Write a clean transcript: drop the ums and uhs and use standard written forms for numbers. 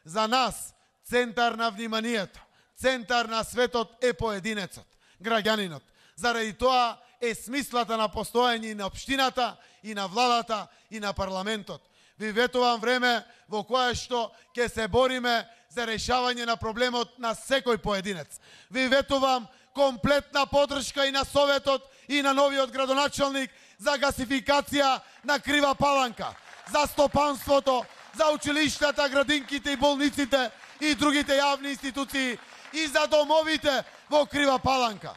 За нас центар на вниманието, центар на светот е поединецот, граѓанинот. Заради тоа е смислата на постоење и на општината, и на владата, и на парламентот. Ви ветувам време во кое што ќе се бориме за решавање на проблемот на секој поединец. Ви ветувам комплетна поддршка и на Советот и на новиот градоначалник за гасификација на Крива Паланка, за стопанството, за училиштата, градинките и болниците и другите јавни институции и за домовите во Крива Паланка.